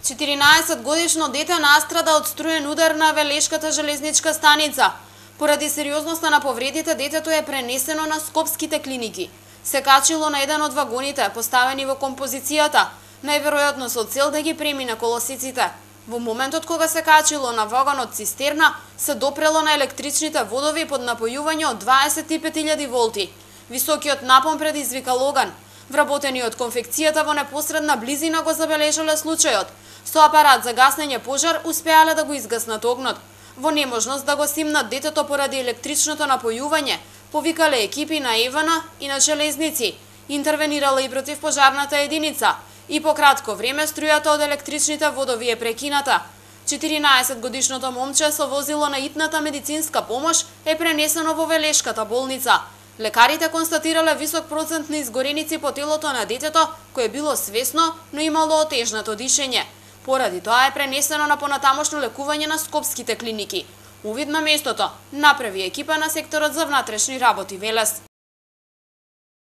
14-годишно дете настрада од струен удар на Велешката железничка станица. Поради сериозноста на повредите, детето е пренесено на скопските клиники. Се качило на еден од вагоните, поставени во композицијата, најверојатно со цел да ги премине колосиците. Во моментот кога се качило на вагонот цистерна, се допрело на електричните водови под напојување од 25.000 волти. Високиот напон предизвикал оган. Вработени од конфекцијата во непосредна близина го забележале случајот. Со апарат за гаснење пожар успеале да го изгаснат огнот. Во неможност да го симнат детето поради електричното напојување, повикале екипи на ЕВН и на железници. Интервенирала и противпожарната единица. И по кратко време струјата од електричните водови е прекината. 14-годишното момче со возило на итната медицинска помош е пренесено во Велешката болница. Лекарите констатирале висок процент на изгореници по телото на детето, кое било свесно, но имало отежнато дишење. Поради тоа е пренесено на понатамошно лекување на скопските клиники. Увид на местото направи екипа на секторот за внатрешни работи Велес.